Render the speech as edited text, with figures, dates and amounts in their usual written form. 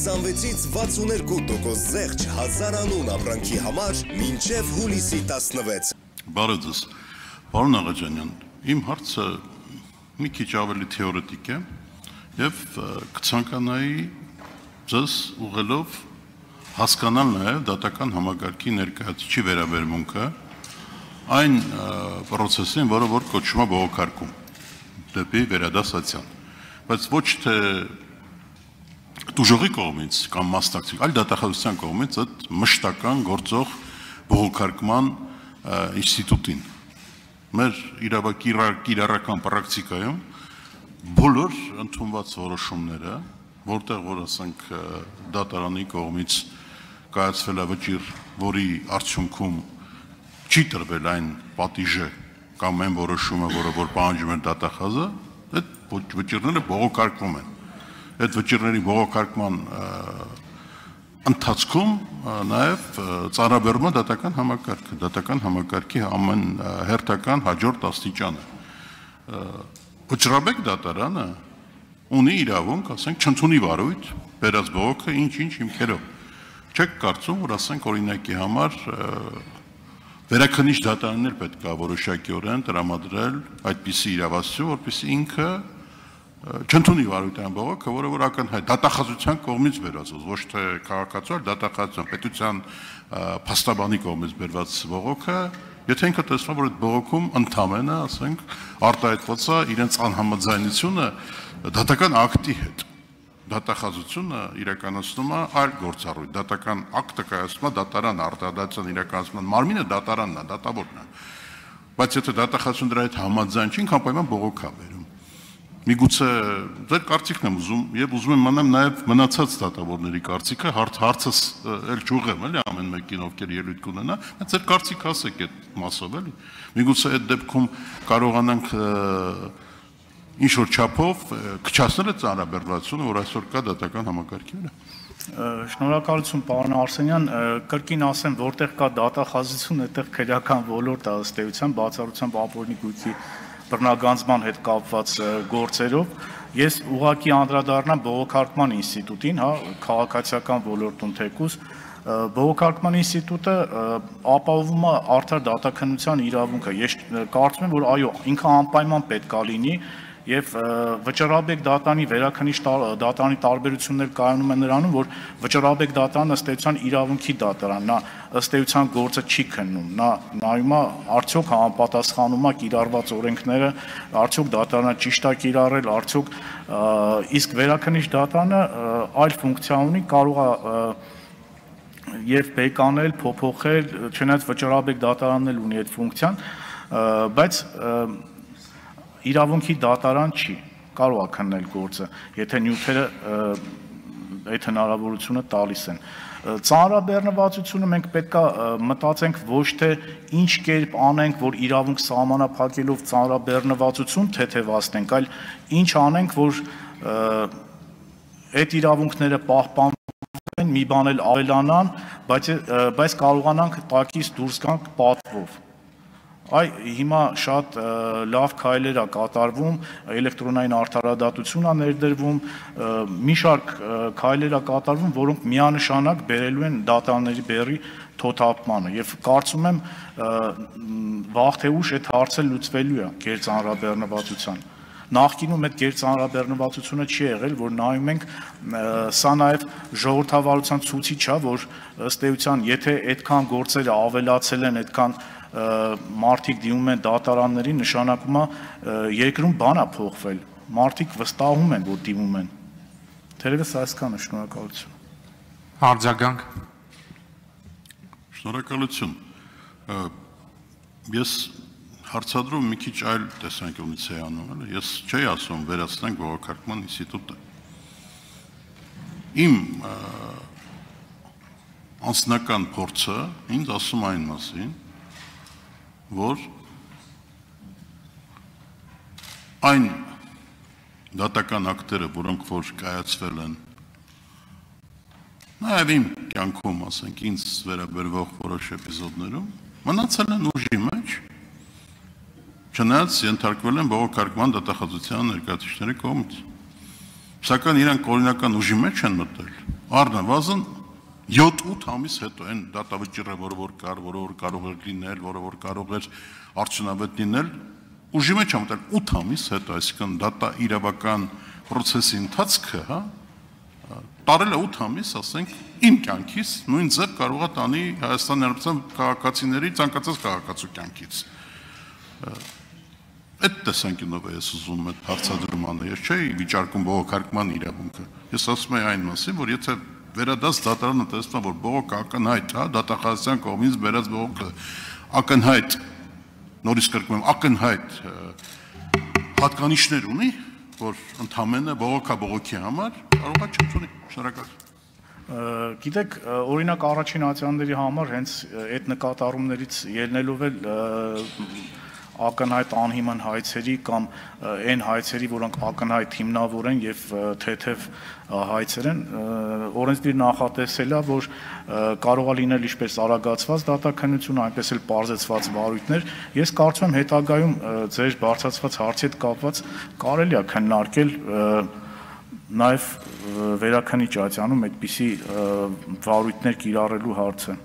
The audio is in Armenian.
26-ից 62% զեղչ 1000 անուն ապրանքի համար մինչև հուլիսի 16։ Բարև ձեզ, պարոն Աղաջանյան, իմ հարցը մի քիչ ավելի թեորետիկ է եւ կցանկանայի ձեզ ուղղելով հասկանալ նաեւ դատական համակարգի ներկայացուցիչի վերաբերմունքը այն process-ին, որը որ կոչվում է բողոքարկում դեպի վերադասացիան, բայց ոչ թե դուժողի կողմից կամ մասնակցի, այլ դատախազության կողմից այդ մշտական գործող բողոքարկման ինստիտուտին։ Մեր իրավական պրակտիկայում բոլոր ընդունված որոշումները, որտեղ որ ասենք դատարանի կողմից կայացվել է վճիռ, որի արդյունքում չի տրվել այն պատիժը կամ այն որոշումը, որը որ պահանջում է դատախազը, այդ վճիռները բողոքարկվում են։ Այդ վճիռների բողոքարկման ընթացքում նաև ծանրաբեռնում է դատական համակարգի ամեն հերթական հաջորդ աստիճանը։ Վճռաբեկ դատարանը ունի իրավունք, ասենք, չընդունի վարույթ, բերած բողոքը ինչ-ինչ հիմքերով։ Չեք կարծում, որ ասենք օրինակի համար վերաքննիչ դատարաններ պետք է որոշակիորեն տրամադրել այդպիսի իրավասություն, որպեսզի ինքը չընդունի վարույթային բողոքը, որը որ ակնհայտ դատախազության կողմից բերված, ոչ թե քաղաքացու, այլ դատախազության պետության փաստաբանի կողմից բերված բողոքը, եթե ինքը տեսնում որ այդ բողոքում ընդամենը, ասենք, արտահայտված է իրենց անհամաձայնությունը դատական ակտի հետ։ Դատախազությունը իրականացնում է այլ գործառույթ, դատական ակտը կայացնում է դատարանը, արտահայտության իրականացման մարմինը դատարանն է, դատավորն է։ Բայց եթե դատախազությունը դրա հետ համաձայն չի, անպայման բողոք է բերում։ Միգուցե ձեր կարծիքն եմ ուզում եւ ուզում եմ իմանամ նաեւ մնացած դատավորների կարծիքը, հարցս էլ չուղեմ, էլի ամեն մեկին ովքեր ելույթ կունենա, բայց ձեր կարծիքը ասեք այդ մասով, էլի։ Միգուցե այդ դեպքում կարողանանք ինչ որ չափով քչացնել այդ ծանրաբեռնվածությունը, որ այսօր կա դատական համակարգի վրա։ Շնորհակալություն, պարոն Արսենյան, կրկին ասեմ, որտեղ կա դատախազություն, այդտեղ քրեական ոլորտ է ըստ էության բացառությամբ ապօրինի գույքի բռնագանձման հետ կապված գործերով, ես ուղղակի անդրադառնամ բողոքարկման ինստիտուտին, հա, քաղաքացիական ոլորտում թեկուզ, բողոքարկման ինստիտուտը ապահովում է արդար դատաքննության իրավունքը։ Ես կարծում եմ, որ այո, ինքը անպայման պետք է լինի եւ վճռաբեկ դատարանի վերաքննիչ դատարանի տարբերություններ կայանում են նրանում, որ վճռաբեկ դատարանը ըստ էության իրավունքի դատարանն է, ըստ էության գործը չի քննում, նա նայում է արդյոք համապատասխանում է կիրառված օրենքները, արդյոք դատարանը ճիշտ է կիրառել, արդյոք իսկ վերաքննիչ դատարանը այլ ֆունկցիա ունի, կարող է եւ բեկանել, փոփոխել, չնայած վճռաբեկ դատարանն էլ ունի այդ ֆունկցիան, բայց իրավունքի դատարան չի, կարող է քննել գործը, եթե նյութերը այդ հնարավորությունը տալիս են։ Ծանրաբեռնվածությունը մենք պետք է մտածենք ոչ թե ինչ կերպ անենք, որ իրավունք սահմանափակելով ծանրաբեռնվածություն թեթևացնենք, այլ ինչ անենք, որ այդ իրավունքները պահպանվեն, մի բան էլ ավելանան, բայց կարողանանք տակից դուրս գանք պատվով։ Այ հիմա շատ լավ քայլեր է կատարվում, էլեկտրոնային արդարադատություն է ներդրվում, մի շարք քայլեր է կատարվում, որոնք միանշանակ բերելու են դատարանների բեռի թոթափմանը եւ կարծում եմ վաղ թե ուշ այդ հարցը լուծվելու է գերծանրաբեռնվածության։ Նախկինում այդ գերծանրաբեռնվածությունը չի եղել, որ նայում ենք, սա նաև ժողովրդավարության ցուցիչ է, որ ըստ էության, եթե այդքան գործերը ավելացել են, այդքան մարդիկ դիմում են դատարանների, նշանակում է երկրում բան է փոխվել, մարդիկ վստահում են, որ դիմում են։ Թերևս այսքանը, շնորհակալություն։ Արձագանք։ Շնորհակալություն։ Ես հարցադրում մի քիչ այլ տեսանկյունից էի անում, էլի, ես չէի ասում վերացնենք բողոքարկման ինստիտուտը։ Իմ անձնական փորձը ինձ ասում այն մասին, որ այն դատական ակտերը, որոնք որ կայացվել են, նաև իմ կյանքում, ասենք, ինձ վերաբերվող որոշ էպիզոդներում, մնացել են ուժի մեջ, չնայած ենթարկվել են բողոքարկման դատախազության ներկայացուցիչների կողմից։ Սակայն իրանք օրինական ուժի մեջ են մտել, առնվազն 7-8 ամիս հետո այն դատավճիռը, որը կարող էր լինել, որը կարող էր արդյունավետ լինել, ուժի մեջ ամտել 8 ամիս հետո, այսինքն դատա իրավական process-ի ընթացքը, հա, տարել է 8 ամիս, ասենք, իմ կյանքից նույն ձև կարող է տանի Հայաստանի Հանրապետության քաղաքացիների ցանկացած քաղաքացու կյանքից։ Այդ տեսանկյունով է ես ուզում այդ հարցադրմանը, ես չէի վիճարկում բողոքարկման իրավունքը։ Ես ասում եմ այն մասին, որ եթե վերադաս դատարանը տեսնում, որ բողոքը ակնհայտ, հա, դատախազության կողմից բերած բողոքը ակնհայտ, նորից կրկնում եմ, ակնհայտ հատկանիշներ ունի, որ ընդհանրապես բողոքա բողոքի համար կարող է չունի։ Շնորհակալ։ Գիտեք, օրինակ առաջին ատյանների համար հենց այդ նկատառումներից ելնելով էլ ակնհայտ անհիմն հայցերի կամ այն հայցերի, որոնք ակնհայտ հիմնավոր են եւ թեթև հայցեր են, օրենսդիր նախատեսել է, որ կարող է լինել ինչպես արագացված դատաքննություն, այնպես էլ պարզեցված վարույթներ։ Ես կարծում եմ հետագայում ձեր բարձրացված հարցի հետ կապված կարելի է քննարկել նաև վերաքննիչ ատյանում այդպիսի վարույթներ կիրառելու հարցը։